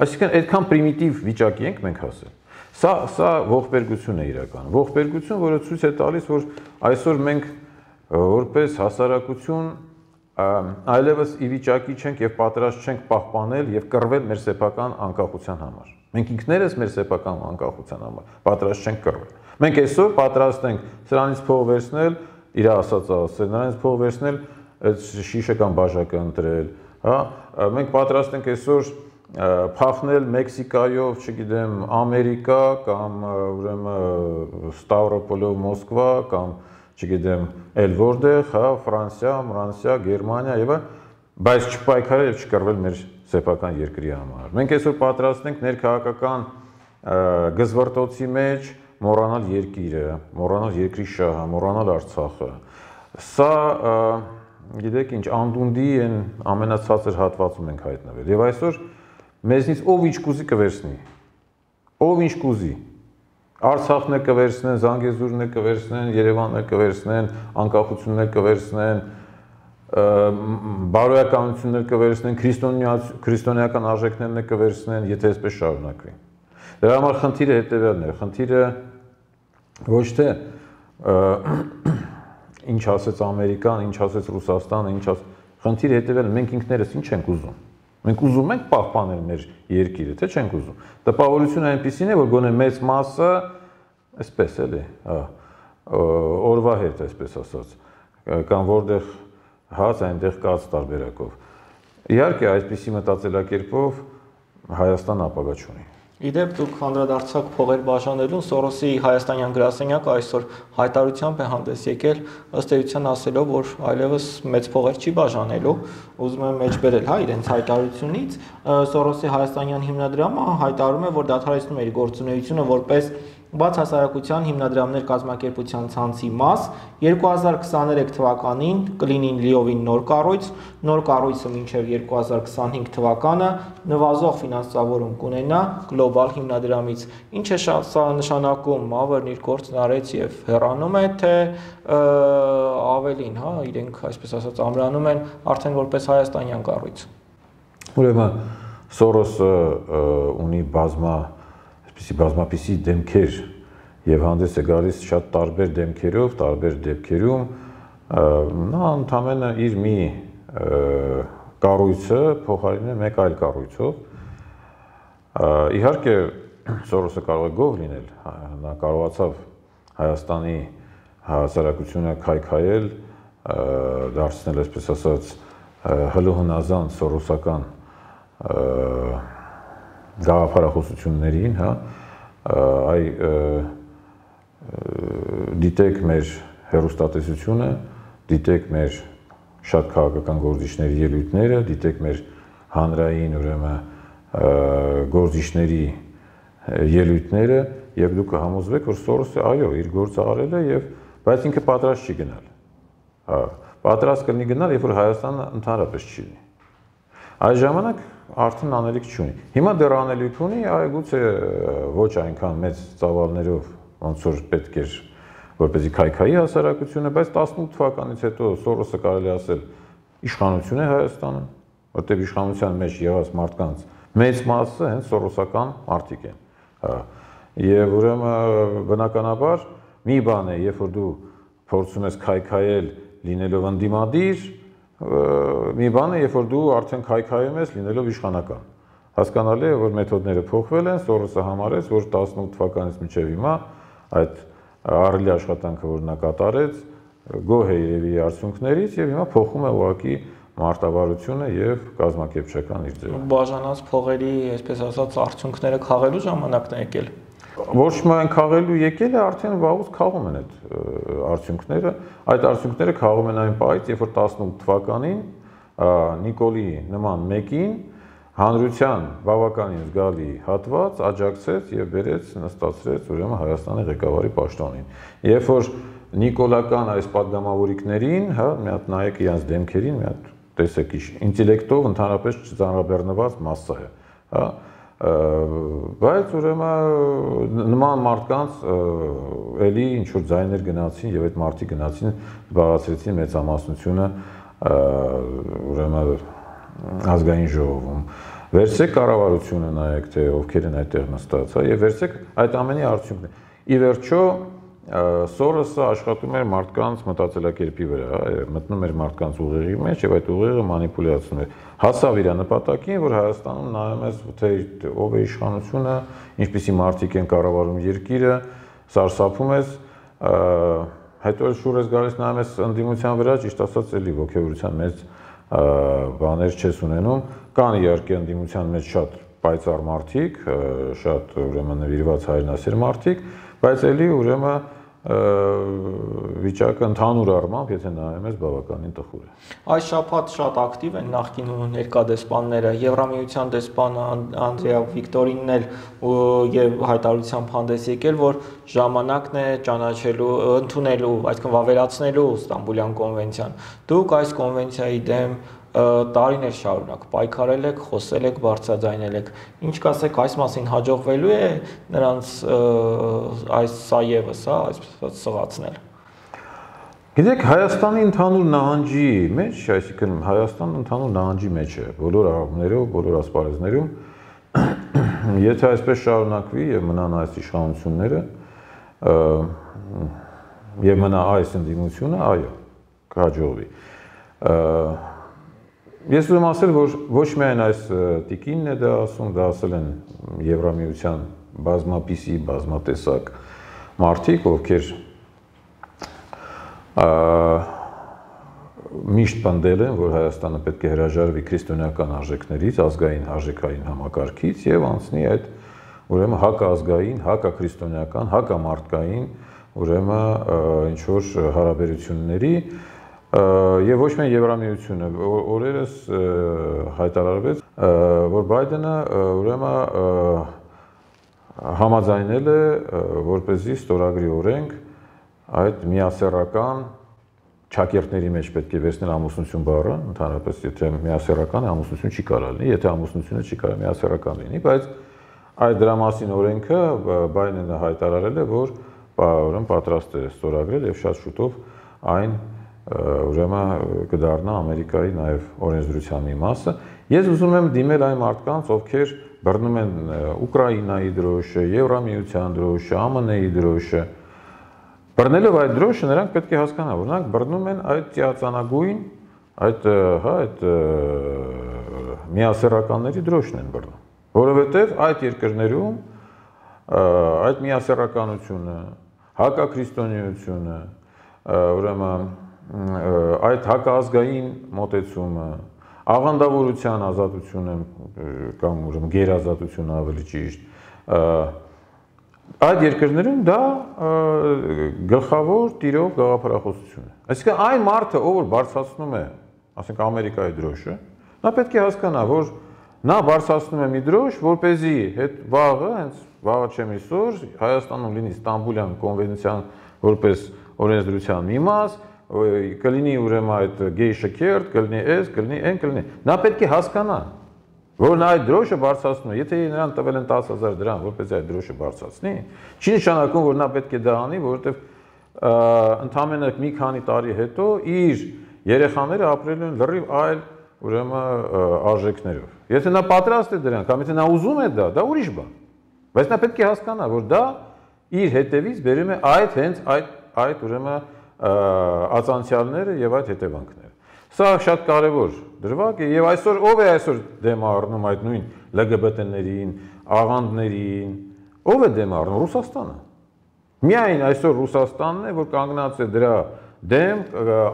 Այսինքն այդքան պրիմիտիվ վիճակի ենք մենք հասել։ Սա սա ողբերգություն է իրական։ Ողբերգություն, որը ցույց է տալիս, որ այսօր մենք որպես հասարակություն այլևս ի վիճակի չենք եւ պատրաստ չենք պահպանել եւ կռվել մեր սեփական անկախության համար։ Մենք ինքներս մեր սեփական անկախության համար պատրաստ չենք կռվել։ Մենք այսօր պատրաստ ենք սրանից փող վերցնել, իր ասածը ասել, նրանից փող վերցնել, այդ շիշը կամ բաժակը ընտրել, հա, մենք պատրաստ ենք այսօր փախնել Մեքսիկայով, չգիտեմ, Ամերիկա կամ ուրեմն Ստավրոպոլով Մոսկվա կամ չգիտեմ, էլ որտեղ, հա, Ֆրանսիա, Ֆրանսիա, Գերմանիա եւ այլն, բայց չպայքարել եւ չկռվել մեր սեփական երկրի համար։ Մենք այսօր պատրաստ ենք ներքաղաքական գզվռտոցի մեջ մոռանալ երկիրը, մոռանալ երկրի շահը, մոռանալ Արցախը։ Սա գիտեք ինչ, անդունդի են ամենացածր հատվածում ենք հայտնվել։ Եվ այսօր մեզնից ով ինչ կուզի կվերցնի։ Ով ինչ կուզի։ Արցախն է կվերցնեն, Զանգեզուրն է կվերցնեն, Երևանն է կվերցնեն, անկախությունն է կվերցնեն, բարոյականություններ կվերցնեն, քրիստոնեական արժեքներն է կվերցնեն, եթե այսպես շարունակվի։ Դրա համար խնդիրը հետևյալն է, խնդիրը ոչ թե ինչ ասեց Ամերիկան, ինչ ասեց Ռուսաստանը, ինչ ասեց, խնդիրը հետևյալն է, մենք ինքներս ինչ ենք ուզում։ Մենք ուզում ենք պահպանել մեր երկիրը, թե չենք ուզում։ Տպավորությունը այնպեսին է, որ գոնե մեծ մասը, այսպես էլի, օրվա հետ, այսպես ասած, կամ որտեղ հաց, այնտեղ կաց տարբերակով։ Իհարկե, այսպիսի մտածելակերպով Հայաստան ապագա չունի։ Իդեպ դուք անդրադարձակ փողեր բաժանելուն, Սորոսի հայաստանյան գրասենյակը այսօր հայտարարությամբ է հանդես եկել, ըստ էության ասելով, որ այլևս մեծ փողեր չի բաժանելու, ուզում եմ մեջբերել, հա, իրենց հայտարարությունից, Սորոսի հայաստանյան հիմնադրամը հայտարարում է, որ դադարեցնում է իր գործունեությունը որպես բաց հասարակության հիմնադրամներ կազմակերպության ցանցի մաս, երկու հազար քսաներեք թվականին կլինի լիովին նոր կառույց, նոր կառույցը մինչև երկու հազար քսանհինգ թվականը նվազող ֆինանսավորում կունենա գլոբալ հիմնադրամից։ Ինչ է սա նշանակում, Մավերն իր գործն արեց եւ հեռանում է, թե ավելին, հա, իրենք այսպես ասած ամրանում են արդեն որպես հայաստանյան կառույց։ Ուրեմն Սորոսը ունի բազմա այսպիսի բազմապիսի դեմքեր եւ հանդես է գալիս շատ տարբեր դեմքերով, տարբեր դեպքերում, նա ընդհանրապես իր մի կառույցը փոխարինել մեկ այլ կառույցով։ Իհարկե Սորոսը կարող է գող լինել, նա կարողացավ Հայաստանի հասարակությունը քայքայել, դարձնել, այսպես ասած, հլուհնազանդ սորոսական գաղափարախոսություններին, հա, այ դիտեք մեր հեռուստատեսությունը, դիտեք մեր շատ քաղաքական գործիչների ելույթները, դիտեք մեր հանրային ուրեմն գործիչների ելույթները եւ դուք կհամոզվեք, որ Սորոսը այո, իր գործը արել է եւ բայց ինքը պատրաստ չի գնալ։ Հա, պատրաստ կլինի գնալ, երբ որ Հայաստանը ընդհանրապես չի լինի։ Այս ժամանակ արդեն անելիք չունի։ Հիմա դեռ անելիք ունի, այգուցե ոչ այնքան մեծ ծավալներով, ոնց որ պետք էր, որպեսզի քայքայի հասարակությունը, բայց տասնութ թվականից հետո Սորոսը կարելի ասել իշխանություն է Հայաստանում, որտեղ իշխանության մեջ եղած մարդկանց մեծ մասը հենց սորոսական մարդիկ են։ Հա։ Եվ ուրեմն բնականաբար մի բան է, երբ որ դու փորձում ես քայքայել լինելով ընդդիմադիր, մի բան է, երբ որ դու արդեն քայքայում ես լինելով իշխանական։ Հասկանալի է, որ մեթոդները փոխվել են, Սորոսը համարեց, որ տասնութ թվականից մինչև հիմա այդ ահռելի աշխատանքը, որ նա կատարեց, գոհ է երևի արդյունքներից եւ հիմա փոխում է ուղղակի մարտավարությունը եւ կազմակերպչական իր ձևը։ Բաժանած փողերի, այսպես ասած, արդյունքները քաղելու ժամանակն է եկել։ Ոչ միայն քաղելու եկել է, արդեն վաղուց քաղում են այդ արդյունքները։ Այդ արդյունքները քաղում են այն պահից, երբ որ տասնութ թվականին Նիկոլի նման մեկին հանրության բավականին զգալի հատված աջակցեց եւ բերեց նստացրեց ուրեմն Հայաստանի ղեկավարի պաշտոնին։ Երբ որ նիկոլական այս падգամավորիկներին, հա, մի հատ նայեք իրենց դեմքերին, մի հատ տեսեք ինտելեկտով ընդհանրապես չծանրաբեռնված մասսա է, հա, բայց ուրեմն նման մարդկանց էլի ինչ որ ձայներ գնացին եւ այդ մարդիկ գնացին զբաղացրեցին մեծամասնությունը ուրեմն ազգային ժողովում։ Վերցեք կառավարությունը նայեք թե ովքեր են այդտեղ նստած, հա, եւ վերցեք այդ ամենի արդյունքն է։ Ի վերջո Սորոսը աշխատում էր մարդկանց մտածելակերպի վրա, մտնում էր մարդկանց ուղեղի մեջ եւ այդ ուղեղը մանիպուլյացնում էր։ Հասավ իր նպատակին, որ Հայաստանում նայում ես թե ով է իշխանությունը, ինչպիսի մարդիկ են կառավարում երկիրը, սարսափում ես, հետո շուր ես գալիս նայում ես ընդդիմության վրա, ճիշտ ասած էլի ոգևորության մեծ բաներ չես ունենում, կան իհարկե ընդդիմության մեջ շատ պայծառ մարդիկ, շատ ուրեմն նվիրված հայրենասեր մարդիկ, բայց էլի ուրեմն վիճակը ընդհանուր առմամբ, եթե նայում ես, բավականին տխուր է։ Այս շաբաթ շատ ակտիվ են նախկին ու ներկա դեսպանները, Եվրամիության դեսպանը Անդրեա Վիկտորինն էլ եւ հայտարարությամբ հանդես եկել, որ ժամանակն է ճանաչելու, ընդունելու, այսինքն վավերացնելու Ստամբուլյան կոնվենցիան։ Դուք այս կոնվենցիայի դեմ տարիներ շարունակ պայքարել եք, խոսել եք, բարձրաձայնել եք։ Ինչ կասեք այս մասին, հաջողվելու է նրանց այս սա եւս, հա, այսպես սղացնել։ Գիտեք, Հայաստանի ընդհանուր նահանջի մեջ, այսինքն Հայաստանը ընդհանուր նահանջի մեջ է, բոլոր առումներով, բոլոր ասպարեզներում, եթե այսպես շարունակվի եւ մնան այս իշխանությունները, եւ մնա այս ընդդիմությունը, այո, կհաջողվի։ Ես ուզում ասել, որ ոչ միայն այս տիկինն է դա ասում, դա ասել են Եվրամիության բազմապիսի, բազմատեսակ մարդիկ, ովքեր միշտ պնդել են, որ Հայաստանը պետք է հրաժարվի քրիստոնեական արժեքներից, ազգային արժեքային համակարգից եւ անցնի այդ ուրեմն հակազգային, հակաքրիստոնեական, հակամարտկային ուրեմն ինչ որ հարաբերությունների Եվ ոչ միայն Եվրամիությունը, օրերս հայտարարվեց, որ Բայդենը ուրեմն համաձայնել է, որպեսզի ստորագրի օրենք այդ միասեռական ճակերտների մեջ պետք է վերցնել ամուսնություն բառը, ընդհանրապես եթե միասեռական է, ամուսնություն չի կարող լինի, եթե ամուսնությունը չի կարող միասեռական լինի, բայց այդ դրա մասին օրենքը Բայդենը հայտարարել է, որ ուրեմն պատրաստ է ստորագրել եւ շատ շուտով այն ուրեմն կդառնա Ամերիկայի նաև օրենսդրության մի մասը։ Ես ուզում եմ դիմել այն մարդկանց, ովքեր բռնում են Ուկրաինայի դրոշը, Եվրամիության դրոշը, ԱՄՆ-ի դրոշը։ Բռնելով այդ դրոշը նրանք պետք է հասկանան, որ նրանք բռնում են այդ ծիածանագույն, այդ, հա, այդ միասեռականների դրոշն են բռնում, որովհետև այդ երկրներում այդ միասեռականությունը, հակաքրիստոնեությունը, ուրեմն այդ հակազգային մոտեցումը, աղանդավորության ազատությունը կամ ուրեմն գերազատությունը ավելի ճիշտ, այդ երկրներում դա գլխավոր տիրող գաղափարախոսություն է։ Այսինքն այն մարդը, ով որ բարձրացնում է, ասենք Ամերիկայի դրոշը, նա պետք է հասկանա, որ նա բարձրացնում է մի դրոշ, որպեսզի հետ վաղը, հենց վաղը չեմ իսօր, Հայաստանում լինի Ստամբուլյան կոնվենցիան որպես օրենսդրության մի մաս, կլինի ուրեմն այդ գեյ շքերթ, կլինի էս, կլինի այն, կլինի։ Նա պետք է հասկանա, որ նա այդ դրոշը բարձրացնում է, եթե նրան տվել են տասը հազար դրամ, որպեսզի այդ դրոշը բարձրացնի, չի նշանակում, որ նա պետք է դա անի, որովհետև ընդամենը մի քանի տարի հետո իր երեխաները ապրելու են լրիվ այլ ուրեմն արժեքներով։ Եթե նա պատրաստ է դրան, կամ եթե նա ուզում է դա, դա ուրիշ բան։ Բայց նա պետք է հասկանա, որ դա իր հետևից բերում է այդ հենց այդ այդ ուրեմն ածանցյալները եւ այդ հետևանքները։ Սա շատ կարևոր դրվագ է եւ այսօր ով է այսօր դեմ առնում այդ նույն L G B T-ներին, աղանդներին, ով է դեմ առնում Ռուսաստանը։ Միայն այսօր Ռուսաստանն է, որ կանգնած է դրա դեմ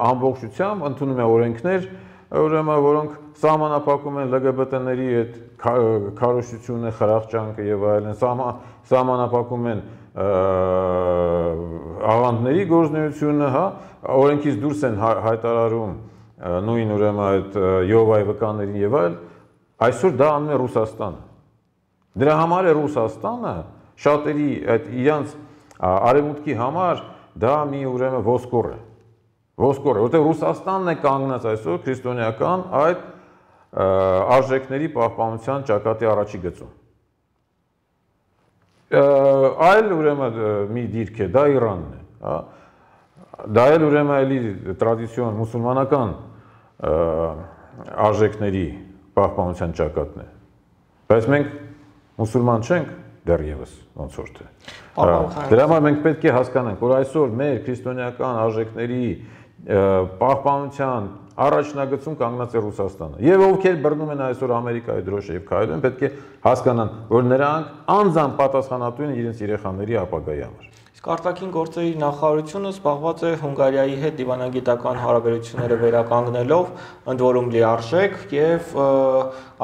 ամբողջությամբ ընդունում է օրենքներ, ուրեմն որոնք սահմանափակում են L G B T-ների այդ քարոզությունը, խրախճանքը եւ այլն, սահմանափակում են աղանդների գործունեությունը, հա, օրենքից դուրս են հայտարարում նույն ուրեմն այդ Եհովայի վկաներին եւ այլ, այսօր դա անում է Ռուսաստանը։ Դրա համար է Ռուսաստանը շատերի այդ իրանց արևմուտքի համար դա մի ուրեմն ոսկոր է։ Ոսկոր է, որտեղ Ռուսաստանն է կանգնած այսօր քրիստոնեական այդ արժեքների պահպանության ճակատի առաջի գծում։ Այլ ուրեմն մի դիրք է, դա Իրանն է, հա։ Դա էլ ուրեմն էլի տրադիցիոն մուսուլմանական արժեքների պահպանության ճակատն է։ Բայց մենք մուսուլման չենք դեռևս ոնց որ թե։ Դրա համար մենք պետք է հասկանանք, որ այսօր մեր քրիստոնեական արժեքների պահպանության առաջնագծում կանգնած է Ռուսաստանը։ Եվ ովքեր բռնում են այսօր Ամերիկայի դրոշը եւ քայլում, պետք է հասկանան, որ նրանք անձամբ պատասխանատու են իրենց երեխաների ապագայի համար։ Իսկ արտաքին գործերի նախարարությունը զբաղված է Հունգարիայի հետ դիվանագիտական հարաբերությունները վերականգնելով, ընդ որում լիարժեք, եւ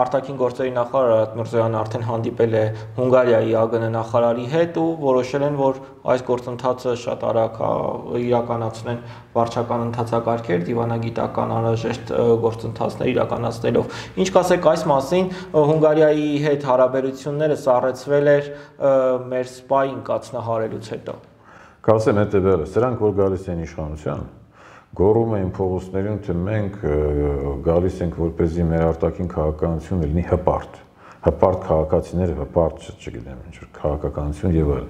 արտաքին գործերի նախարար Արարատ Միրզոյանը արդեն հանդիպել է Հունգարիայի Ա Գ Ն նախարարի հետ ու որոշել են, որ այս գործընթացը շատ արագ իրականացնեն վարչական ընթացակարգեր դիվանագիտական անհրաժեշտ գործընթացներ իրականացնելով։ Ինչ կասեք այս մասին, Հունգարիայի հետ հարաբերությունները սառեցվել էր մեր սպայի ընկածնահարելուց հետո։ Կասեմ հետևյալը, սրանք որ գալիս են իշխանության, գոռում էին փողոցներում, թե մենք գալիս ենք որպեսզի մեր արտաքին քաղաքականությունը լինի հպարտ, հպարտ քաղաքացիները, հպարտ, չգիտեմ, ինչ որ քաղաքականություն եւ այլն։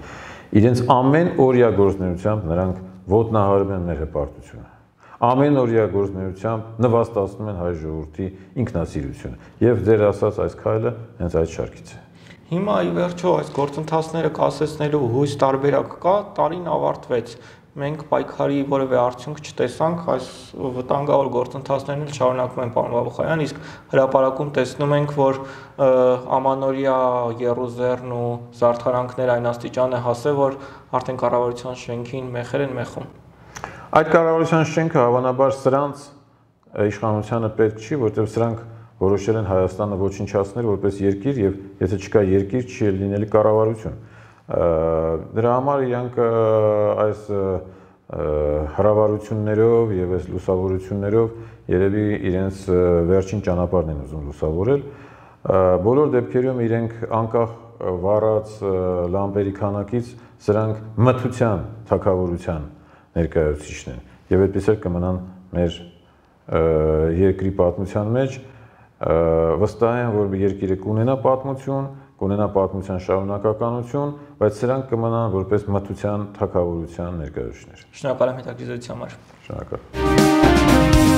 Իրենց ամեն օրյա գործունեությամբ նրանք ոտնահարում են մեր հպարտությունը։ Ամեն օրյա գործունեությամբ նվաստացնում են հայ ժողովրդի ինքնասիրությունը։ Եվ ձեր ասած այս քայլը հենց այդ շարքից է։ Հիմա ի վերջո այս գործընթացները կասեցնելու հույս տարբերակ կա, տարին ավարտվեց։ Մենք պայքարի որևէ արդյունք չտեսանք, այս վտանգավոր գործընթացներն էլ շարունակվում են, պարոն Բաբուխանյան, իսկ հրապարակում տեսնում ենք, որ ամանորյա եռուզեռն ու զարդարանքներ այն աստիճան է հասել, որ արդեն կառավարության շենքին մեխեր են մեխում։ Այդ կառավարության շենքը հավանաբար սրանց իշխանությանը պետք չի, որտեղ սրանք որոշել են Հայաստանը ոչնչացնել որպես երկիր եւ եթե չկա երկիր, չի լինելու կառավարություն։ Դրա համար իրանք այս հրավառություններով եւ այս լուսավորություններով երևի իրենց վերջին ճանապարհն են ուզում լուսավորել։ Բոլոր դեպքերում իրենք անկախ վառած լամպերի քանակից սրանք մթության թակավորության ներկայացուցիչն են եւ այդպես էլ կմնան մեր երկրի պատմության մեջ վստահ եմ, որ երկիրը կունենա պատմություն, կունենա պատմության շարունակականություն, բայց սրանք կմնան որպես մթության թագավորության ներկայացուցիչներ։ Շնորհակալ եմ հետաքրքրության համար։ Շնորհակալ։